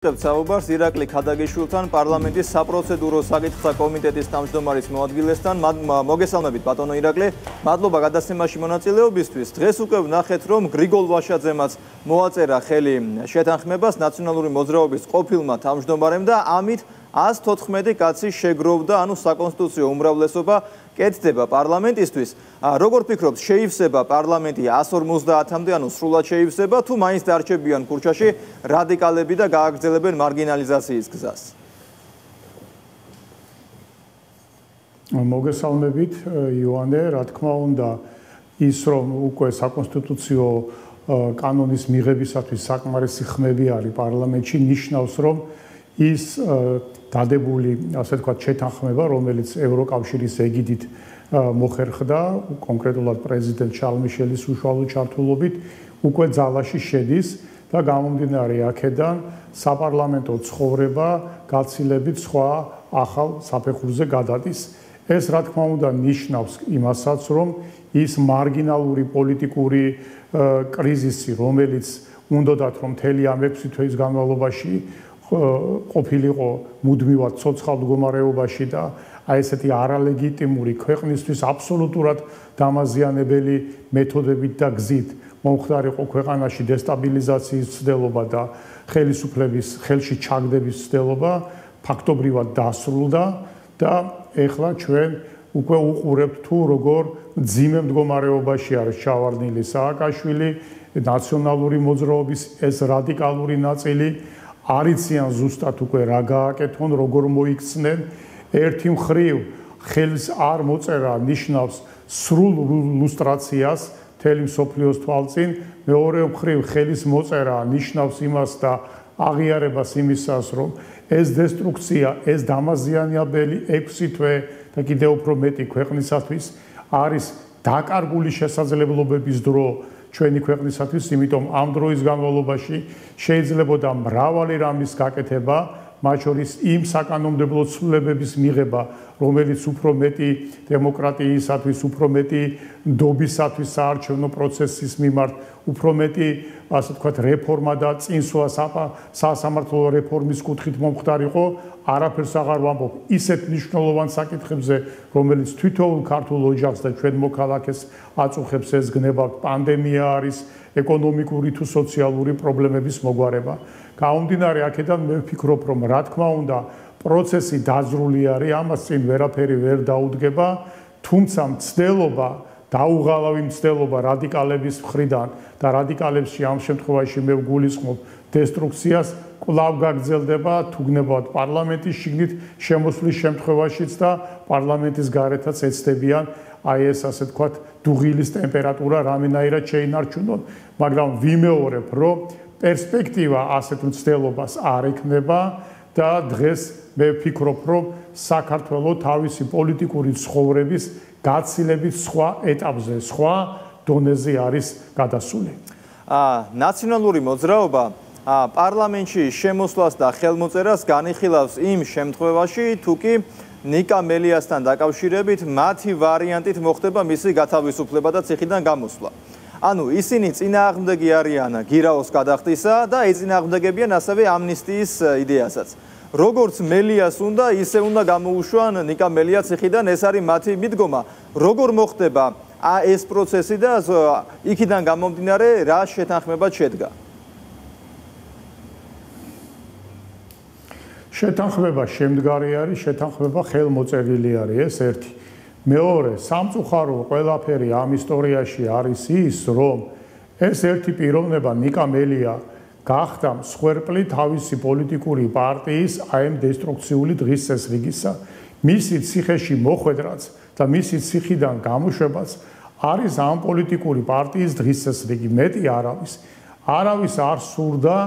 საუბარს ირაკლი ქადაგიშვილთან პარლამენტის საპროცედურო საკითხთა კომიტეტის თავმჯდომარის მოადგილესთან. მოგესალმებით ბატონო ირაკლი, მადლობა გადაცემაში მონაწილეობისთვის. დღეს უკვე ვნახეთ, რომ გრიგოლ ვაშაძემაც მოაწერა ხელი შეთანხმებას ნაციონალური მოძრაობის ყოფილმა თავმჯდომარემ და ამით 114 კაცი შეგროვდა, ანუ საკონსტიტუციო უმრავლესობა კეთდება პარლამენტისთვის. როგორ ფიქრობთ, შეივსება პარლამენტი 150-მდე, ანუ სრულად შეივსება, თუ მაინც დარჩებიან ქუჩაში რადიკალები და გააგრძელებენ მარგინალიზაციის გზას? მოგესალმებით იოანე, რა თქმა უნდა, ის რომ უკვე საკონსტიტუციო კანონის მიღებისათვის საკმარისი ხმები არის პარლამენტში, ნიშნავს, რომ ის დადებული, ასე ვთქვათ, შეთანხმება, რომელიც ევროკავშირის ეგიდით მოხერხდა, კონკრეტულად პრეზიდენტ შარლ მიშელის უშუალო ჩართულობით, უკვე ძალაში შედის და გამომდინარე აქედან საპარლამენტო ცხოვრება გაცილებით სხვა ახალ საფეხურზე გადადის. ეს რა თქმა უნდა ნიშნავს იმასაც, რომ ის მარგინალური პოლიტიკური კრიზისი, რომელიც უნდათ რომ მთელი ამ 6 თვეის განმავლობაში ყოფილიყო მუდმივად ცოცხალ მდგომარეობაში და აი ესეთი არალეგიტიმური ქვეყნისთვის აბსოლუტურად დამაზიანებელი მეთოდებით და გზით მომხდარიყო ქვეყანაში დესტაბილიზაციის ცდელობა და ხელისუფლების ხელში ჩაგდების ცდელობა ფაქტობრივად დასრულდა და ეხლა ჩვენ უკვე უყურებთ თუ როგორ მძიმე მდგომარეობაში არის ჩავარდნილი სააკაშვილი, ნაციონალური მოძრაობის ეს რადიკალური ნაწილი არიციან ზუსტად უკვე რა გააკეთონ, როგორ მოიქცნენ. ერთი მხრივ ხელს არ მოწერა ნიშნავს სრულ ლუსტრაციას მთელი მსოფლიოს თვალწინ, მეორე მხრივ ხელის მოწერა ნიშნავს იმას და აღიარებას იმისას, რომ ეს დესტრუქცია, ეს დამაზიანებელი 6 თვე და კიდევ უფრო მეტი ქვეყნისათვის არის დაკარგული შესაძლებლობების დრო ჩვენი ქვეყნისათვის, იმიტომ ამ დროის განმავლობაში შეიძლებოდა მრავალი რამის გაკეთება, მათ შორის იმ საკანონმდებლო ცვლილებების მიღება, რომელიც უფრო მეტი დემოკრატიისათვის, უფრო მეტი ნდობისათვის საარჩევნო პროცესის მიმართ, უფრო მეტი, ასე ვთქვათ, რეფორმა და წინსვლა სასამართლო რეფორმის კუთხით მომხდარიყო, არაფერს აღარ ვამბობ ისეთ მნიშვნელოვან საკითხებზე, რომელიც თითოეულ ქართულ ოჯახს და ჩვენ მოქალაქეს აწუხებს, ეს გნება პანდემია არის, ეკონომიკური თუ სოციალური პრობლემების მოგვარება. გამომდინარე აქედან მე ვფიქრობ, რომ რა თქმა უნდა პროცესი დაძრული არის, ამას წინ ვერაფერი ვერ დაუდგება, თუმცა მცდელობა დაუღალავი მცდელობა რადიკალების მხრიდან და რადიკალებში ამ შემთხვევაში მე ვგულისხმობ დესტრუქციას კვლავ გაგრძელდება თუ გნებავთ პარლამენტის შიგნით შემოსვლის შემთხვევაშიც და პარლამენტის გარეთაც ეცდებიან აი ეს ასე ვთქვათ დუღილის ტემპერატურა რამენაირად შეინარჩუნონ, მაგრამ ვიმეორებ, რომ პერსპექტივა ასეთ მცდელობას არ ექნება და დღეს მე ვფიქრობ, რომ საქართველოს თავისი პოლიტიკური ცხოვრების გაცილებით სხვა ეტაპზე, სხვა დონეზე არის გადასული. ნაციონალური მოძრაობა პარლამენტში შემოსვლას და ხელმოწერას განიხილავს იმ შემთხვევაში, თუ კი ნიკა მელიასთან დაკავშირებით მათი ვარიანტით მოხდება მისი გათავისუფლება და ციხიდან გამოსვლა. ანუ ისინი წინააღმდეგი არიან გირაოს გადახდისა და ეწინააღმდეგებიან ასევე ამნისტიის იდეასაც. როგორც მელიას უნდა, ისე უნდა გამოუშვან ნიკა მელია ციხიდან, ეს არის მათი მიდგომა. როგორ მოხდება ეს პროცესი და იქიდან გამომდინარე რა შეთანხმება შედგა? შეთანხმება შემდგარი არის, შეთანხმება ხელმოწერილი არის, ეს ერთი. მეორე, სამწუხარო ყველაფერი ამ ისტორიაში არის ის, რომ ეს ერთი პიროვნება ნიკა მელია გახდა მსხვერპლი თავისი პოლიტიკური პარტიის ამ დესტრუქციული დღის წესრიგისა. მისი ციხეში მოხვედრაც და მისი ციხიდან გამოშვებაც არის ამ პოლიტიკური პარტიის დღის წესრიგი. მეტი არავის არ სურდა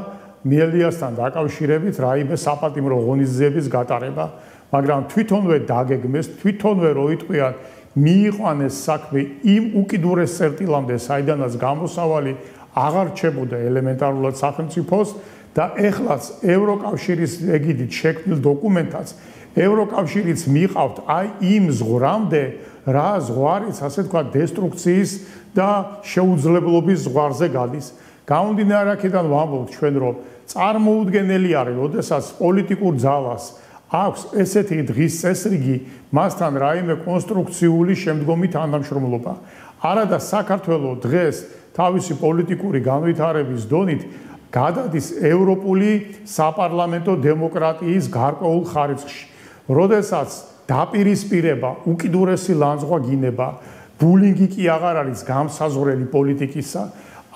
მელიასთან დაკავშირებით რაიმე საპატიმრო ღონისძიების გატარება, მაგრამ თვითონვე დაგეგმეს, თვითონვე როიტყვიან მიიყვანეს საქმე იმ უკიდურეს წერტილამდე, საიდანაც გამოსავალი აღარ რჩებოდა ელემენტარულად სახელმწიფოს და ეხლაც ევროკავშირის ეგიდით შექმნილ დოკუმენტაც ევროკავშირიც მიყავთ აი იმ ზღვრამდე, რა ზღვარიც, ასე ვთქვათ, დესტრუქციის და შეუძლებლობის ზღვარზე გადის. გამომდინარე აქედან ვამბობთ ჩვენ, რომ წარმოუდგენელი არის, როდესაც პოლიტიკურ ძალას აქვს ესეთი დღის წესრიგი, მასთან რაიმე კონსტრუქციული შემდგომი თანამშრომლობა. არადა საქართველოს დღეს თავისი პოლიტიკური განვითარების დონით გადადის ევროპული საპარლამენტო დემოკრატიის გარკვეულ ხარისხში. როდესაც დაპირისპირება, უკიდურესი ლანძღვა გინება, ბულინგი კი აღარ არის გამსაზღვრელი პოლიტიკისა,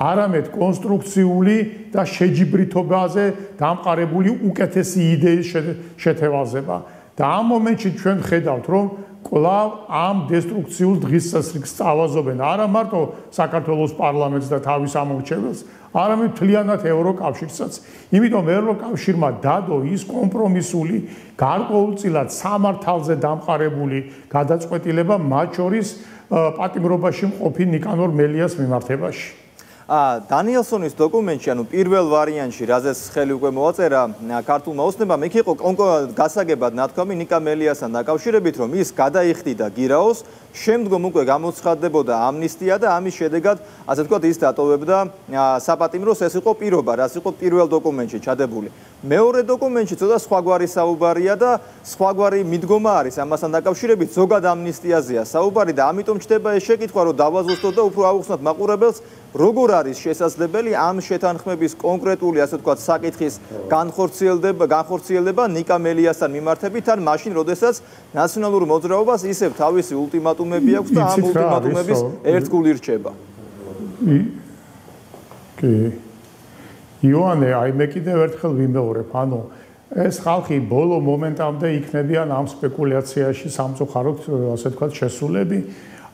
არამედ კონსტრუქციული და შეჯიბრითობაზე დამყარებული უკეთესი იდეის შეთევაზება. და ამ მომენტში ჩვენ ხედავთ, რომ კვლავ ამ დესტრუქციულ დღის წესრიგს წავაზობენ არა მარტო საქართველოს პარლამენტს და თავის ამორჩეველს, არამედ მთლიანად ევროკავშირსაც. იმიტომ ევროკავშირმა დადო ის კომპრომისული, გარკვეულწილად სამართალზე დამყარებული გადაწყვეტილება, მათ შორის პატიმრობაში მყოფი ნიკანორ მელიას მიმართებაში. დანიელსონის დოკუმენტში, ანუ პირველ ვარიანტში, რაზეც ხელი უკვე მოაწერა ქართულმა ოცნებამ, იქ იყო გასაგებად ნათქვამი ნიკა მელიასთან დაკავშირებით, რომ ის გადაიხდიდა გირაოს, შემდგომ უკვე გამოცხადდებოდა ამნისტია და ამის შედეგად, ასე ვთქვათ, ის დატოვებდა საპატიმროს. ეს იყო პირობა, რაც იყო პირველ დოკუმენტში ჩადებული. მეორე დოკუმენტში ცოტა სხვაგვარი საუბარია და სხვაგვარი მიდგომა არის ამასთან დაკავშირებით, ზოგად ამნისტიაზეა საუბარი და ამიტომ ჩდება ეს შეკითხვა, რომ დავაზუსტოთ და უფრო აუხსნათ მაყურებელს, როგორ არის შესაძლებელი ამ შეთანხმების კონკრეტული, ასე ვთქვათ, საკითხის განხორციელება ნიკა მელიასთან მიმართებით, ან მაშინ, როდესაც ნაციონალურ მოძრაობას ისევ თავისი ულტიმატუმები აქვს და ამ ულტიმატუმების ერთგული რჩება. იოანე, აი მე კიდევ ერთხელ ვიმეორებ, ანუ ეს ხალხი ბოლო მომენტამდე იქნებიან ამ სპეკულაციაში სამწუხაროდ, ასე ვთქვათ, შესულები.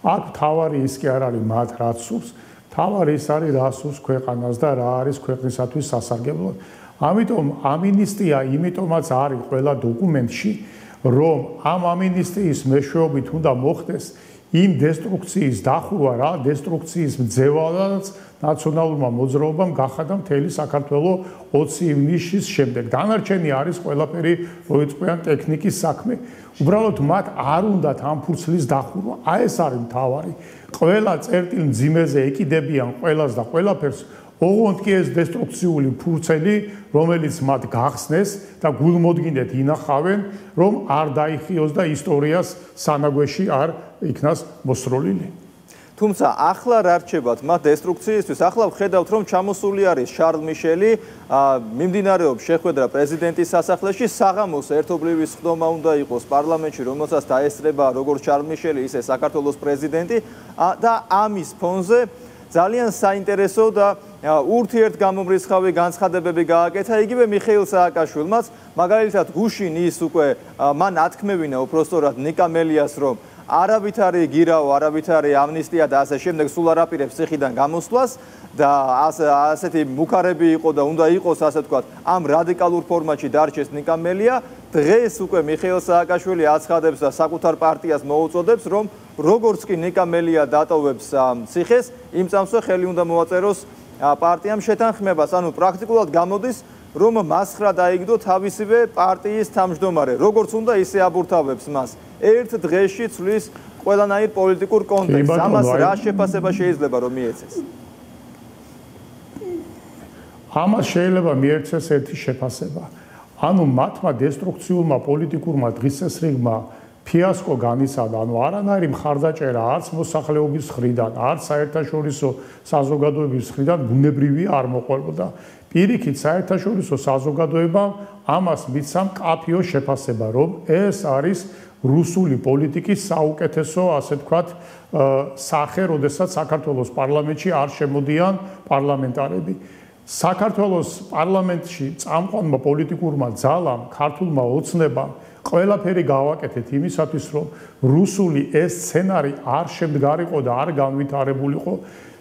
აქ თავარი ის კი არ არის მათ რაც სურს, თავარი ის არის რა სურს ქვეყანას და რა არის ქვეყნისათვის სასარგებლო. ამიტომ ამინისტია იმიტომაც არის ყველა დოკუმენტში, რომ ამ ამინისტიის მეშვეობით უნდა მოხდეს იმ დესტრუქციის დახურვა, რა დესტრუქციის მძევალაც ნაციონალურმა მოძრაობამ გახადა მთელი საქართველოს 20 ივნისის შემდეგ. დანარჩენი არის ყველაფერი მოიწყვიან ტექნიკის საქმე. უბრალოდ მათ არ უნდათ ამ ფურცლის დახურვა. აი ეს არის მთავარი. ყველა წერტილ მძიმეზე ეკიდებიან ყველას და ყველაფერს, ოღონდ კი ეს დესტრუქციული ფურცელი, რომელიც მათ გახსნეს და გულმოდგინედ ინახავენ, რომ არ დაიხიოს და ისტორიას სანაგვეში არ იქნას მოსროლილი. თუმცა ახლა რა რჩებათ მათ დესტრუქციისთვის? ახლა ვხედავთ, რომ ჩამოსული არის შარლ მიშელი, მიმდინარეობს შეხვედრა პრეზიდენტის სასახლეში, საღამოს ერთობლივი სხდომა უნდა იყოს პარლამენტში, რომელსაც დაესწრება როგორც შარლ მიშელი, ისე საქართველოს პრეზიდენტი და ამის ფონზე ძალიან საინტერესო და ურთიერთგამომრიცხავი განცხადებები გააკეთა იგივე მიხეილ სააკაშვილმაც, მაგალითად გუშინ ის უკვე მან ათქმევინა უпростоრად ნიკა მელიას, რომ არავითარი გირაო, არავითარი ამნისტია და ასე შემდეგ სულ არ აპირებს ციხიდან გამოსვლას და ასეთი მუქარები იყო და უნდა იყოს, ასე ვთქვათ, ამ რადიკალურ ფორმატში დარჩეს ნიკა მელია. დღეს უკვე მიხეილ სააკაშვილი აცხადებს და საკუთარ პარტიას მოუწოდებს, რომ როგორც კი ნიკა მელია დატოვებს ციხეს, იმ წამსვე ხელი უნდა მოაწეროს პარტიამ შეთანხმებას. ანუ პრაქტიკულად გამოდის, რომ მასხრა დაიგდო თავისივე პარტიის თავმჯდომარე. როგორც უნდა ისე აბურთავებს მას. ერთ დღეში ცვლის ყველანაირ პოლიტიკურ კონტექსტს. ამას რა შეფასება შეიძლება რომ მიეცეს? ამას შეიძლება მიეცეს ერთი შეფასება. ანუ მათმა დესტრუქციულმა პოლიტიკურმა დღესასრიგმა ფიასკო განიცადა, ანუ არანაირი მხარდაჭერა არც მოსახლეობის მხრიდან, არც საერთაშორისო საზოგადოების მხრიდან ბუნებრივი არ მოყვებოდა. პირიქით საერთაშორისო საზოგადოებამ ამას მისცა მკაფიო შეფასება, რომ ეს არის რუსული პოლიტიკის საუკეთესო, ასე ვთქვათ, სახე, როდესაც საქართველოს პარლამენტში არ შემოდიან პარლამენტარები. საქართველოს პარლამენტში წამყვანმა პოლიტიკურმა ძალამ, ქართულმა ოცნებამ ყველაფერი გავაკეთეთ იმისათვის, რომ რუსული ეს სცენარი არ შემდგარიყო და არ განვითარებულიყო.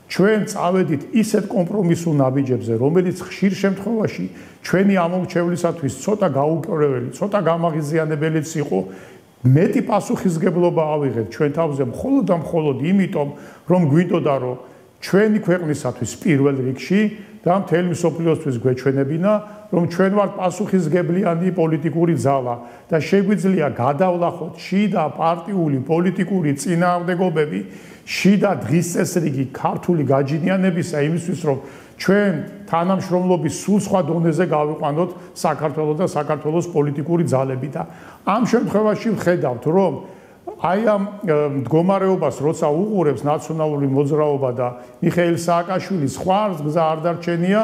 ჩვენ წავედით ისეთ კომპრომისულ ნაბიჯებზე, რომელიც ხშირ შემთხვევაში ჩვენი ამორჩევლისათვის ცოტა გაუკრეველი, ცოტა გამაღიზიანებელიც იყო. მეტი პასუხისგებლობა ავიღეთ ჩვენ თავზე მხოლოდ და მხოლოდ იმიტომ, რომ გვინდოდა, რომ ჩვენი ქვეყნისათვის პირველ რიგში და მთელი მსოფლიოსთვის გვეჩვენებინა, რომ ჩვენ ვართ პასუხისგებლიანი პოლიტიკური ძალა და შეგვიძლია გადავლახოთ შიდა პარტიული პოლიტიკური წინააღმდეგობები, შიდა დღის წესრიგი ქართული გაჯინიანებისა იმისთვის, რომ ჩვენ თანამშრომლობის სულ სხვა დონეზე გავიყვანოთ საქართველოს და საქართველოს პოლიტიკური ძალები და ამ შემთხვევაში ვხედავთ, რომ აი ამ მდგომარეობას როცა უყურებს ნაციონალური მოძრაობა და მიხეილ სააკაშვილის სხვა გზა არ დარჩენია,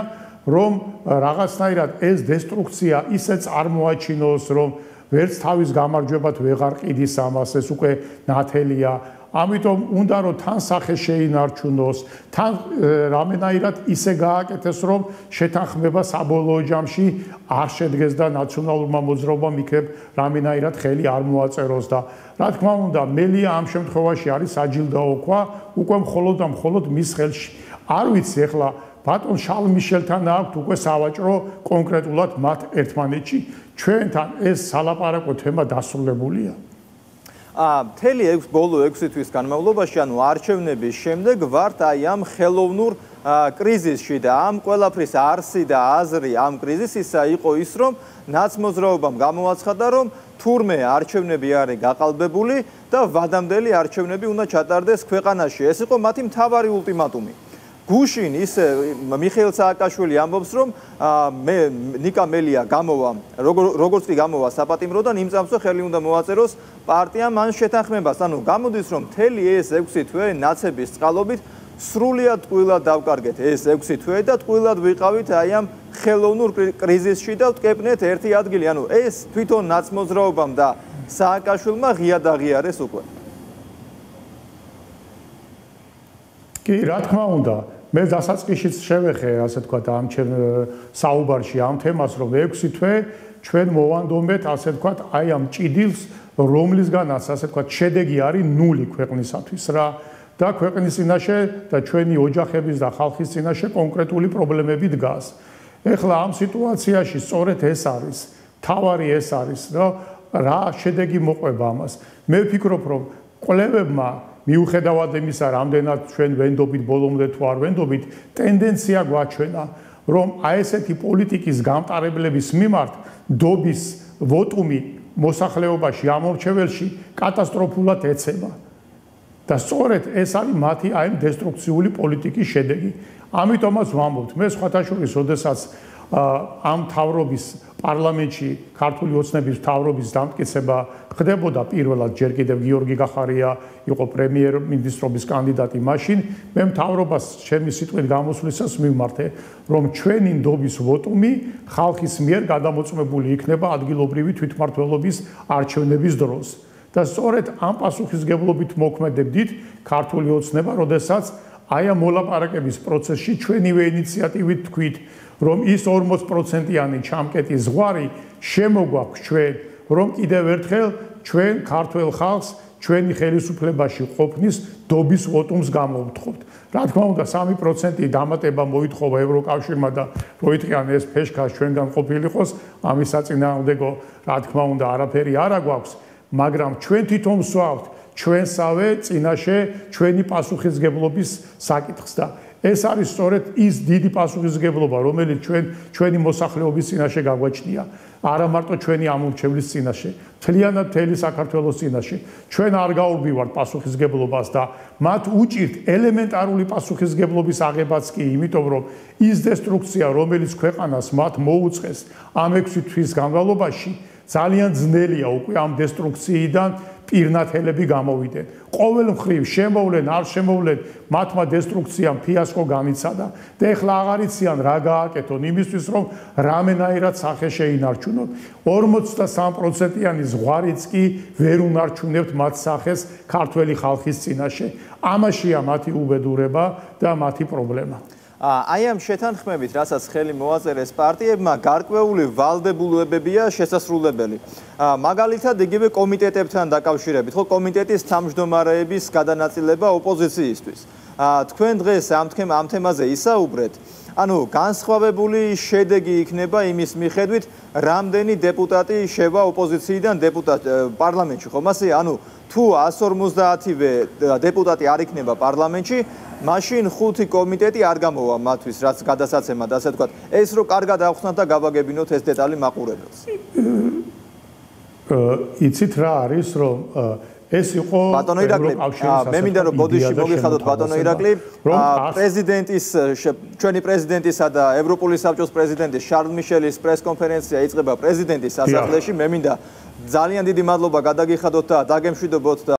რომ რაღაცნაირად ეს დესტრუქცია ისე წარმოაჩინოს, რომ ვერც თავის გამარჯვებად ვეღარ ყიდის ამას, ეს უკვე ნათელია. ამიტომ უნდა რომ თან სახე შეინარჩუნოს, თან რამენაირად ისე გააკეთეს, რომ შეთანხმება საბოლოო ჯამში არ შედგეს და ნაციონალურმა მოძრაობამ იქნებ რამენაირად ხელი არ მოაწეროს და რა თქმა უნდა, მელია ამ შემთხვევაში არის საჯილდაო ქვა, უკვე მხოლოდ და მხოლოდ მის ხელში. არ ვიცი ახლა ბატონ შარლ მიშელთან აქვთ უკვე სავაჭრო კონკრეტულად მათ ერთმანეთში. ჩვენთან ეს სალაპარაკო თემა დასრულებულია. მთელი ბოლო 6 თვის განმავლობაში, ანუ არჩევნების შემდეგ ვართ აი ამ ხელოვნურ კრიზისში და ამ ყველაფრის არსი და აზრი ამ კრიზისისა იყო ის, რომ ნაცმოძრაობამ გამოაცხადა, რომ თურმე არჩევნები არის გაყალბებული და ვადამდელი არჩევნები უნდა ჩატარდეს ქვეყანაში. ეს იყო მათი მთავარი ულტიმატუმი. გუშინ ისე მიხეილ სააკაშვილი ამბობს, რომ ნიკა მელია გამოვა, როგორც კი გამოვა საპატიმროდან, იმ წამსვე ხელი უნდა მოაწეროს პარტიამ ან შეთანხმებას. ანუ გამოდის, რომ მთელი ეს 6 თვე ნაცების წყალობით სრულიად ტყუილად დავკარგეთ ეს 6 თვე და ტყუილად ვიყავით აი ამ ხელოვნურ კრიზისში და ვტკეპნეთ ერთი ადგილი. ანუ ეს თვითონ ნაცმოძრაობამ და სააკაშვილმა ღია დაღიარეს უკვე. კი, რა თქმა უნდა, მე დასაწყისშიც შევეხე, ასე თქვა, ამ საუბარში ამ თემას, რომ 6 თვე ჩვენ მოვანდომეთ, ასე თქვა, აი ამ ჭიდილს, რომლისგანაც, ასე თქვა, შედეგი არის 0 ქვეყნისათვის რა და ქვეყნის წინაშე და ჩვენი ოჯახების და ხალხის წინაშე კონკრეტული პრობლემები დგას. ეხლა ამ სიტუაციაში სწორედ ეს არის, თავარი ეს არის, რომ რა შედეგი მოყვება ამას. მე ვფიქრობ, რომ კვლევებმა მიუხედავად იმისა, რამდენად ჩვენ ვენდობით ბოლომდე თუ არ ვენდობით, ტენდენცია გვაჩვენა, რომ აი ესეთი პოლიტიკის გამტარებლების მიმართ დობის ვოტუმი მოსახლეობაში ამორჩეველში კატასტროფულად ეცემა. და სწორედ ეს არის მათი აი ამ დესტრუქციული პოლიტიკის შედეგი. ამიტომაც ვამბობთ, მე სხვათა შორის, როდესაც ამ თავრობის პარლამენტში ქართული ოცნების თავრობის დამტკიცება ხდებოდა პირველად ჯერ კიდევ გიორგი გახარია იყო პრემიერ-მინისტრობის კანდიდატი მაშინ მე მთავრობას ჩემი სიტყვით გამოსვლისას მივმართე რომ ჩვენი ნდობის ვოტუმი ხალხის მიერ გადამოწმებული იქნება ადგილობრივი თვითმმართველობის არჩევნების დროს და სწორედ ამ პასუხისგებლობით მოქმედებდით ქართული ოცნება როდესაც აი ამ მოლაპარაკების პროცესში ჩვენივე ინიციატივით თქვით რომ ის 40%-იანი ჩამკეტი ზღვარი შემოგვაქვს ჩვენ რომ კიდევ ერთხელ ჩვენ ქართულ ხალხს ჩვენი ხელისუფლებაში ყოფნის დობის ვოტუმს გამოვთხოვთ. რა თქმა უნდა 3% დამატება მოითხოვა ევროკავშირმა და მოითხრიან ეს ფეშქას ჩვენგან ყოფილიყოს ამის საწინააღმდეგო რა თქმა უნდა არაფერი არ აგვაქვს მაგრამ ჩვენ თვითონ ვსვავთ ჩვენსავე წინაშე ჩვენი პასუხისგებლობის საკითხს და ეს არის სწორედ ის დიდი პასუხისგებლობა რომელიც ჩვენი მოსახლეობის წინაშე გაგვაჩნია არა მარტო ჩვენი ამორჩევლის წინაშე მთლიანად მთელი საქართველოს წინაშე ჩვენ არ გაურბივართ პასუხისგებლობას და მათ უჭირთ ელემენტარული პასუხისგებლობის აღებაც კი იმიტომ რომ ის დესტრუქცია რომელიც ქვეყანას მათ მოუწყეს ამ 6 თვის განმავლობაში ძალიან ძნელია უკვე ამ დესტრუქციიდან პირნათელები გამოვიდნენ. ყოველ მხრივ შემოვლენ, არ შემოვლენ, მათმა დესტრუქციამ ფიასკო განიცადა და ეხლა აღარ იციან რა გააკეთონ იმისთვის, რომ რამენაირად სახე შეინარჩუნონ. 43%-იანი ზღვარიც კი ვერ უნარჩუნებთ მათ სახეს ქართველი ხალხის წინაშე. ამაშია მათი უბედურება და მათი პრობლემა. აი ამ შეთანხმებით, რასაც ხელი მოაწერეს პარტიებმა, გარკვეული ვალდებულებებია შესასრულებელი. მაგალითად, იგივე კომიტეტებთან დაკავშირებით, ხო, კომიტეტის თავმჯდომარეების გადანაწილება ოპოზიციისთვის. თქვენ დღეს ამ თემაზე ისაუბრეთ, ანუ განსხვავებული შედეგი იქნება იმის მიხედვით, რამდენი დეპუტატი შევა ოპოზიციიდან პარლამენტში, ხომ ასე? ანუ თუ 150-ვე დეპუტატი არ იქნება პარლამენტში, მაშინ 5 კომიტეტი არ გამოვა მათთვის, რაც გადასაცემად, ასე ვთქვათ. ეს რო კარგად ავხსნათ და გავაგებინოთ ეს დეტალი მაყურებელს. იცით რა არის, რომ ეს იყო ბატონო ირაკლი, მე მინდა რომ ბოდიში მოგიხადოთ ბატონო ირაკლი, ჩვენი პრეზიდენტისა და ევროპული საბჭოს პრეზიდენტის შარლ მიშელის პრესკონფერენცია იწყება პრეზიდენტის სასახლეში. მე მინდა ძალიან დიდი მადლობა გადაგიხადოთ და დაგემშვიდობოთ.